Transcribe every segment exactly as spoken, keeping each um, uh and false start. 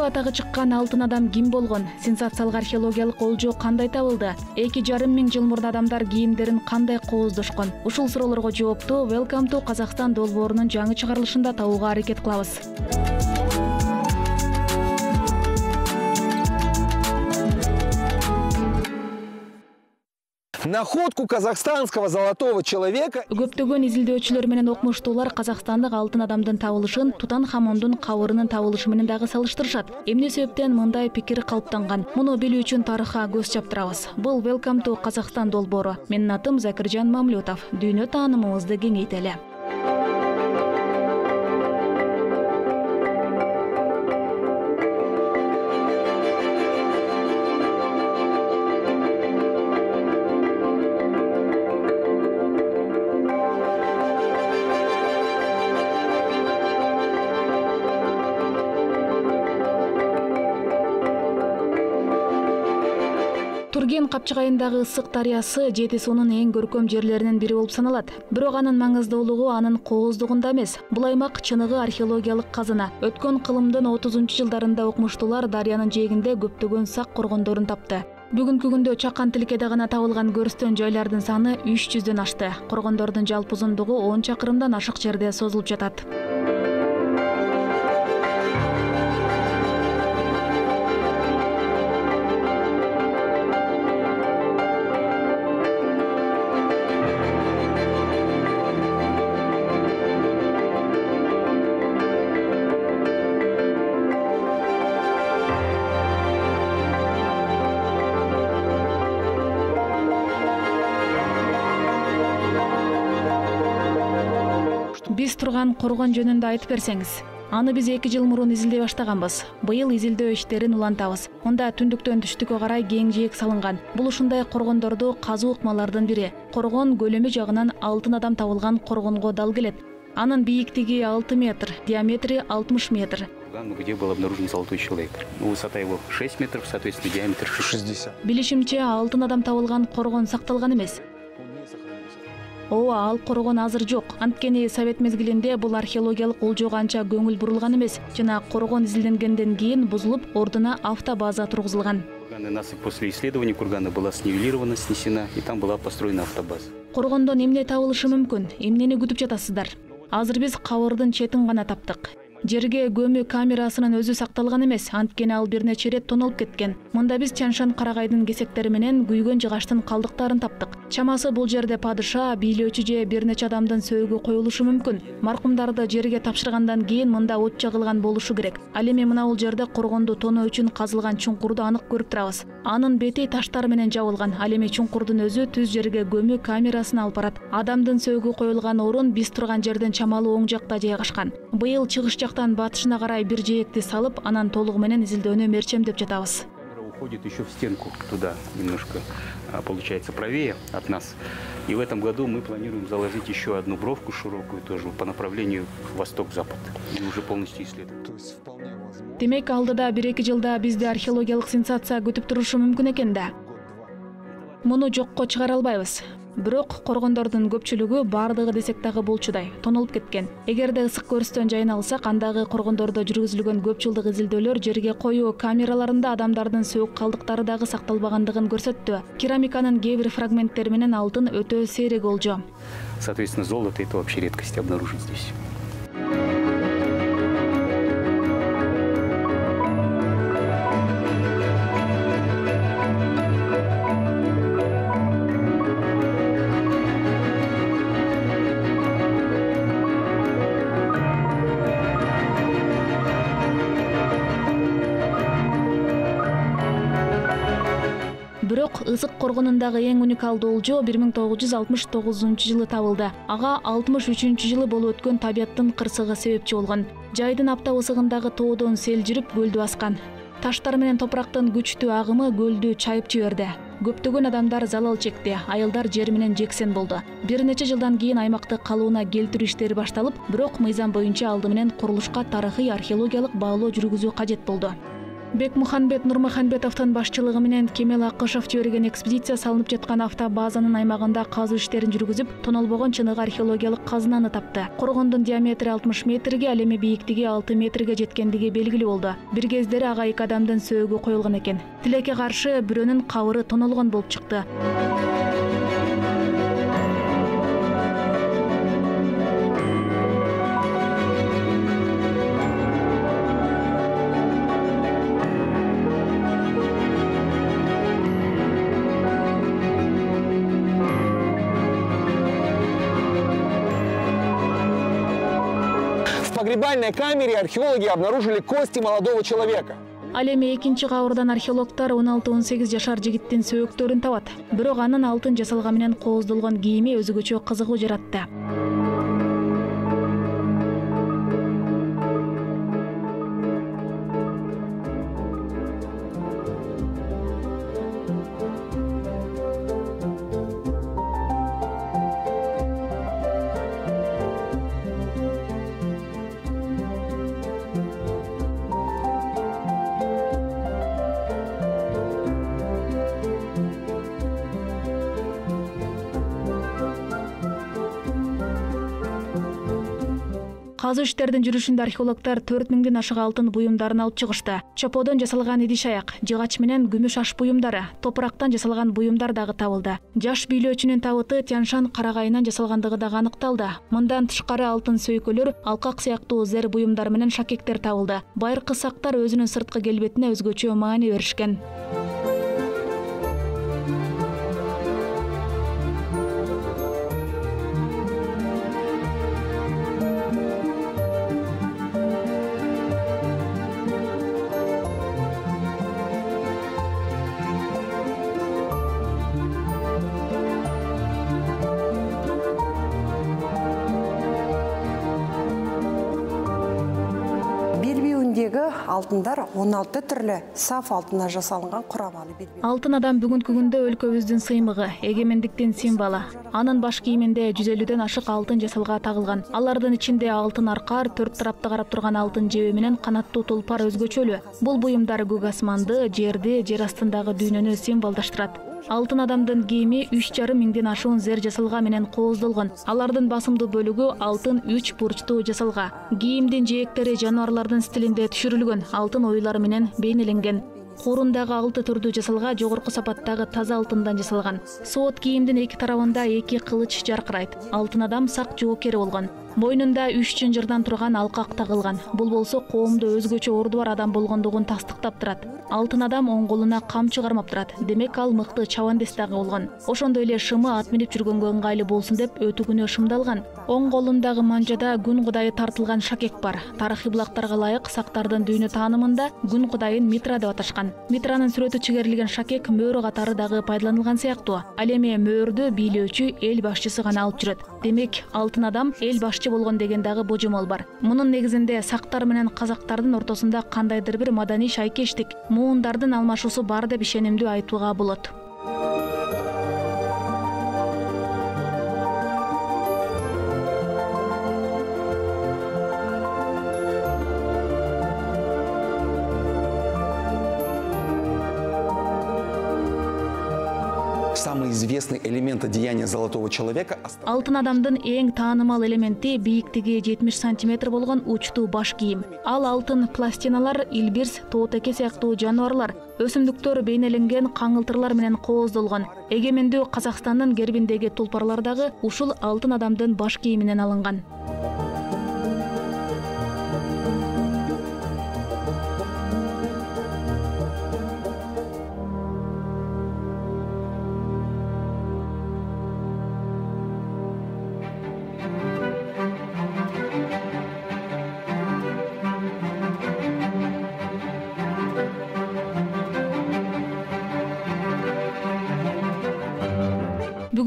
Атагы чыккан алтын адам ким болгон? Сенсациялык археологиялык олжо кандай табылды? эки жарым миң жыл мурун адамдар кийимдерин кандай кооздошкон? Ушул суроолорго жоопту Welcome to Kazakhstan долбоорунун жаңы чыгарылышында табууга аракет кылабыз. Находку казахстанского золотого человека. Көптөгөн изилдөөчүлөр менен окумуштуулар казакстандык алтын адамдын табылышын Тутанхамондун кабырынын табылышы менен дагы салыштырышат. Эмне себептен мындай пикир калыптанган? Муну билүү үчүн тарыхка көз чаптырабыз. Бул Welcome to Kazakhstan долбоору. Менин атым Закиржан Мамлютов. Дүйнө таанымыбызды кеңейтели. Турген капчыгайындагы ысык дарыясы Жети суунун эң көркөм жерлеринин бири болуп саналат. Бирок анын маңыздуулугу анын кооздугунда эмес. Бул аймак чыныгы археологиялык казына. Өткөн кылымдын отузунчу жылдарында окумуштуулар дарыянын жээгинде көптөгөн сак коргондорун тапты. Бүгүнкү күндө Чакан тилкеде гана табылган көрүстөн жайлардын саны үч жүздөн ашты. Коргондордун жалпы узундугу он чакырымдан ашык жерде созулуп жатат. Биз турган коргон жөнүндө айтып берсеңиз. Аны биз эки жыл мурун изилдей баштаганбыз. Быйыл изилдөө иштерин улантабыз. Онда түндүктөн түштүккө карай кең жээк салынган. Бул ушундай коргондорду казуу ыкмалардын бири. Коргон көлөмү жагынан алтын адам табылган коргонго дал келет. Анын бийиктиги алты метр, диаметри алтымыш метр. Где был обнаружен золотой человек. Высота его шесть метров, соответственно, диаметр шестьдесят. Билишимче, алтын адам табылган коргон сакталган эмес. Ооба, ал коргон азыр жок. Анткени Совет мезгилинде бул археологиялык олжого анча көңүл бурулган эмес. Жана коргон изилденгенден кийин бузулуп, ордуна автобаза тургузулган. Насыпь после исследования кургана была снивелирована, снесена, и там была построена автобаза. Коргондон эмне табылышы мүмкүн? Эмнени күтүп жатасыздар? Азыр биз кабырдын четин гана таптык. Жерге көмү камерасынын өзү сакталган эмес, анткени ал бир нече ирет тонулуп кеткен. Мында биз Чаншан карагайдын кесектери менен күйгөн жыгачтын калдыктарын таптык. Чамасы бул жерде падыша, бийлөөчү же бир нече адамдын сөөгү коюлушу мүмкүн. Маркумдарды жерге тапшыргандан кийин мында от жагылган болушу керек. Ал эми мына бул жерде коргонду тоноо үчүн казылган чуңкурду анык көрүп турабыз. Анын бети таштар менен жабылган. Ал эми чуңкурдун өзү түз жерге көмү камерасына алып барат. Адамдын сөөгү коюлган орун биз турган жерден чамалуу оң жакта жайгашкан. Быйыл чыгыш жактан батышына карай бир жээкти салып, анан толугу менен изилдөөнү мерчемдеп жатабыз. Уходит еще в стенку туда, немножко, получается, правее от нас. И в этом году мы планируем заложить еще одну бровку широкую тоже по направлению восток-запад. И уже полностью исследовать. Демек, алдыда бир-эки жылда бизди археологиялык сенсация күтүп турушу мүмкүн экен да. Муну жокко чыгара албайбыз. Бирок коргондордун көпчүлүгү бардыгы десек дагы болчудай тонулуп кеткен. Эгерде ысык көрүстөн жайын алсак, андагы коргондордо жүргүзүлгөн көп жылдык изилдөөлөр жерге коюу камераларында адамдардын сөөк калдыктары дагы сакталбагандыгын көрсөттү. Керамиканын кээ бир фрагменттери менен алтын өтө сейрек олжо. Соответственно, золото это вообще редкость обнаружить здесь. Ысык коргонундагы эң уникалдуу олжо бир миң тогуз жүз алтымыш тогузунчу жылы табылды. Ага алтымыш үчүнчү жылы болуп өткөн табияттын кырсыгы себепчи болгон. Жайдын аптап ысыгындагы тоодон сел жүрүп көлдү баскан. Таштар менен топурактын күчтүү агымы көлдү чайып жиберди. Көптөгөн адамдар залал чекти, айылдар жер менен жексен болду. Бир нече жылдан кийин аймакты калыбына келтирүү иштери башталып, бирок мыйзам боюнча алды менен курулушка тарыхый археологиялык баалоо жүргүзүү кажет болду. Бекмуханбет Нурмуханбетовдун башчылыгы менен Кемел Акышев жиберген экспедиция салынып жаткан автобазанын аймагында казуу иштерин жүргүзүп, тонолбогон чыныгы археологиялык казынаны тапты. Коргондун диаметри алтымыш метрге, ал эми бийиктиги алты метрге жеткендиги белгилүү болду. Бир кездери ага эки адамдын сөөгү коюлган экен. Тилекке каршы бирөөнүн кабыры тонолгон болуп чыкты. В погребальной камере археологи обнаружили кости молодого человека. Ал эми экинчи кабырдан археологдор он алты он сегиз жашар жигиттин сөөктөрүн табат. Бирок анын алтын жасалган менен кооздолгон кийими өзгөчө кызыгуу жаратты. Казуу иштердин жүрүшүндө археологдор төрт миңден ашык алтын буюмдарын алып чыгышты. Чоподон жасалган идиш аяк, жыгач менен күмүш аш буюмдары, топурактан жасалган буюмдар дагы табылды. Жаш бийлөөчүнүн табыты Тянь-Шань карагайынан жасалгандыгы дагы аныкталды. Мындан тышкары алтын сөйкөлөр, алкак сыяктуу зер буюмдар менен шакектер табылды. Байыркы сактар өзүнүн сырткы келбетине өзгөчө маани беришкен. Алтындар он алты түрлі саф алтына жасалынған құрамалы белбеу. Алтын адам бүгүнкү күндө өлкөбүздүн сыймыгы, эгемендиктин символу. Анын баш кийиминде жүз элүүдөн ашык алтын жасалга тагылган. Алардын ичинде алтын аркар, төрт тарапты карап турган алтын жебе менен канаттуу тулпар өзгөчөлүү. Бул буюмдар көк асманды, жерди, жер астындагы дүйнөнү символдаштырат. Алтын адамдын кийими үч жарым миңден ашуун зер жасалга менен кооздолгон. Алардын басымдуу бөлүгү алтын үч бурчтуу жасалга. Кийимдин жээктери жаныбарлардын стилинде түшүрүлгөн, алтын оюлары менен бейнеленген. Куурундагы алты түрдүү жасалга жогорку сапаттагы таза алтындан жасалган. Соот кийимдин эки тарабында эки кылыч жаркырайт. Алтын адам сак жоокери болгон. Бойнунда үч чынжырдан турган алкак тагылган. Бул болсо коомдо өзгөчө орду бар адам болгондугун тастыктап турат. Алтын адам оң колуна камчы кармап турат. Демек ал мыкты чабандес дагы болгон. Ошондой эле шымы ат минип жүргөнгө ыңгайлуу болсун деп өтүгүнө шымдалган. Оң колундагы манжада күн кудайы тартылган шакек бар. Тарыхый булактарга ылайык сактардын дүйнө таанымында күн кудайын Митра деп аташкан. Митранын сүрөтү чигерилген шакек мөөрү катары дагы пайдаланылган сыяктуу. Ал эми мөөрдү бийлөөчү эл башчысы гана алып жүрөт. Демек алтын адам эл башчы болгон деген дагы божомол бар. Мунун негизинде сактар менен казактардын ортосунда кандайдыр бир маданий шайкештик, муундардын алмашуусу бар деп ишенимдүү айтууга болот. Самый известный элемент одеяния золотого человека. Алтын адамдын эң таанымал элементи бийиктиги жетимиш сантиметр болгон учтуу баш кийим. Ал алтын пластиналар, илбирс, тоотеке сыяктуу жаныбарлар, өсүмдүктөр бейнеленген каңылтырлар менен кооздолгон. Эгемендүү Казакстандын гербиндеги тулпарлар дагы ушул алтын адамдын баш кийиминен алынган.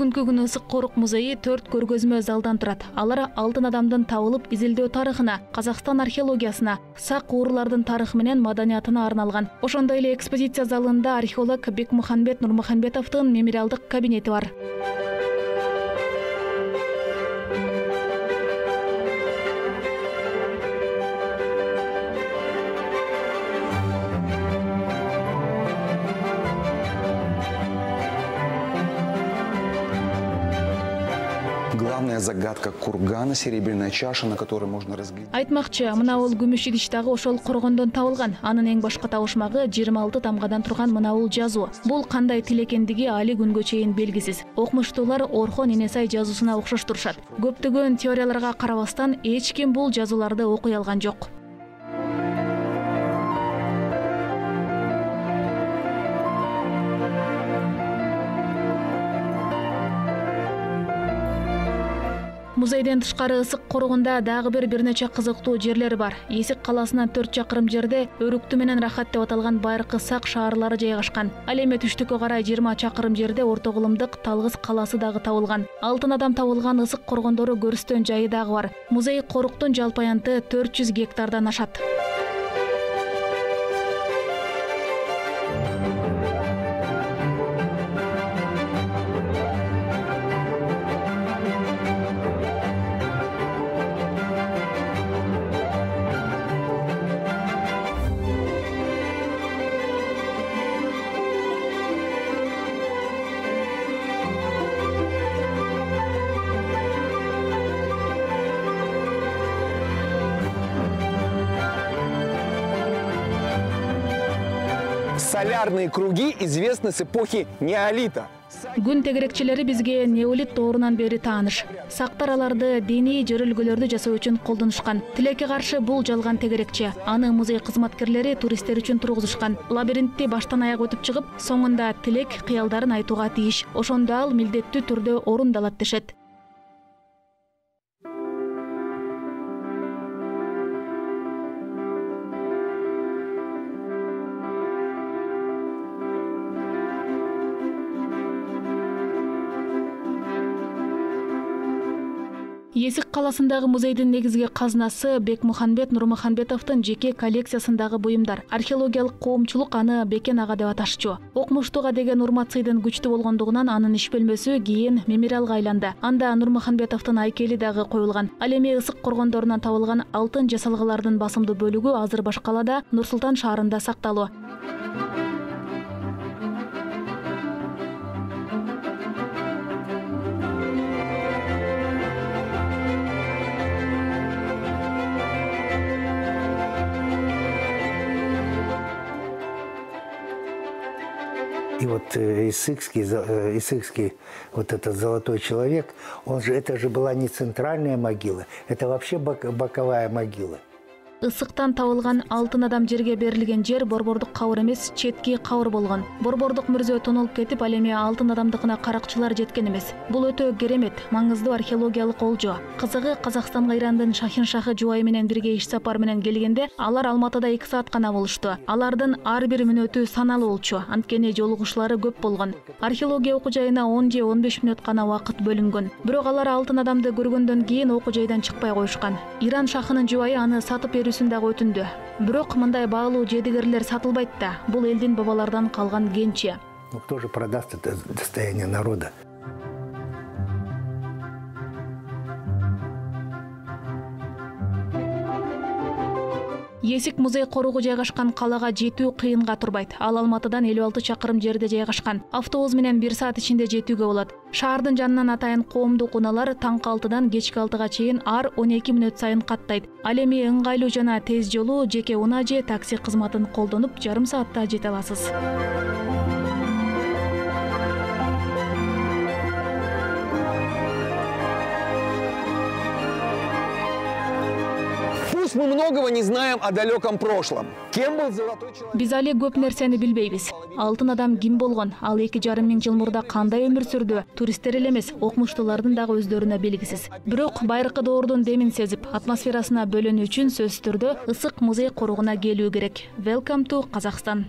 Бүгүнкү күнү Ысык Корук музейи төрт көргөзмө залдан турат. Алар алтын адамдын табылып изилдөө тарыхына, Казакстан археологиясына, сак уурулардын тарыхы менен маданиятына арналган. Ошондой эле экспозиция залында археолог Бекмухамбет Нурмухамбетовдун мемориалдык кабинети бар. Главная загадка кургана, серебряная чаша, на которой можно разглядеть. Айтмакчы, мына бул күмүш идиш дагы ошол коргондон табылган. Анын эң башкы табышмагы жыйырма алты тамгадан турган мына бул жазуу. Бул кандай тил экендиги али күнгө чейин белгисиз. Окумуштуулар Орхон Энесай жазуусуна окшоштурушат. Көптөгөн теорияларга карабастан эч ким бул жазууларды окуй алган жок. Музейден тышкары Ысык Корогунда дагы бир бир нече кызыктуу жерлер бар. Эсик каласынан төрт чакырым жерде Өрүктү менен Рахат деп аталган байыркы сак шаарлары жайгашкан. Ал эми түштүккө карай жыйырма чакырым жерде Орто Кулумдук Талгыс каласы дагы табылган. Алтын адам табылган Ысык коргондору көрүстөн жайы дагы бар. Музей Коруктун жалпы аянты төрт жүз гектардан ашат. Солярные круги известны с эпохи неолита. Күн тегерекчилери бизге неолит доорунан бери тааныш. Сактар аларды диний жөрөлгөлөрдү жасоо үчүн колдонушкан. Тилекке каршы бул жалган тегерекче. Аны музей кызматкерлери туристтер үчүн тургузушкан. Лабиринтти баштан аяк өтүп чыгып, соңунда тилек, кыялдарын айтууга тийиш. Ошондо ал милдеттүү түрдө орундалат дешет. Эсик каласындагы музейдин негизги казнасы Бекмухамбет Нурмухамбетовдун жеке коллекциясындагы буюмдар. Археологиялык коомчулук аны Бекен ага деп аташчу. Окумуштууга деген урмат-сыйдын күчтүү болгондугунан анын иш бөлмөсү кийин мемориалга айланды. Анда Нурмухамбетовдун айкели дагы коюлган. Ал эми Ысык коргондорунан табылган алтын жасалгалардын басымдуу бөлүгү азыр башкалада Нур Султан шаарында сакталуу. И вот Исыкский, Исыкский, вот этот золотой человек, он же, это же была не центральная могила, это вообще боковая могила. Ысыктан табылган алтын адам жерге берилген жер борбордук кабыр эмес, четки кабыр болгон. Борбордук мүрзө тонолуп кетип, ал эми алтын адамдыкына каракчылар жеткен эмес. Бул өтө керемет, маңыздуу археологиялык олжо. Кызыгы, Казакстанга Ирандын Шахин Шахы жубайы менен бирге иш сапар менен келгенде, алар Алматыда эки саат гана болушту. Алардын ар бир мүнөтү саналуу болчу, анткени жолугушуулары көп болгон. Археология окуу жайына он же он беш мүнөт гана убакыт бөлүнгөн. Бирок алар алтын адамды көргөндөн кийин окуу жайдан чыкпай коюшкан. Иран Шахынын жубайы аны сатып дагы өтүндү. Бирок мындай баалуу жедигерлер сатылбайт да. Бул элдин бабалардан калган кенче. Ну кто же продаст это достояние народа? Эсик музей коругу жайгашкан калага жетүү кыйынга турбайт. Ал Алматыдан элүү алты чакырым жерде жайгашкан. Автобус менен бир саат ичинде жетүүгө болот. Шаардын жанынан атайын коомдук унаалар таңкы алтыдан кечки алтыга чейин ар он эки мүнөт сайын каттайт. Ал эми ыңгайлуу жана тез жолу жеке унаа же такси кызматын колдонуп жарым саатта жете аласыз. Пусть мы многого не знаем о далеком прошлом. Кем был золотой человек? Биз али көп нерсени билбейбиз. Алтын адам ким болгон, ал эки жарым миң жыл мурда кандай өмүр сүрдү? Туристтер эле эмес, окумуштуулардын дагы өздөрүнө белгисиз. Бирок байыркы доордун демин сезип, атмосферасына бөлөнүү үчүн сөзсүз түрдө Ысык музей коругуна келүү керек. Welcome to Kazakhstan.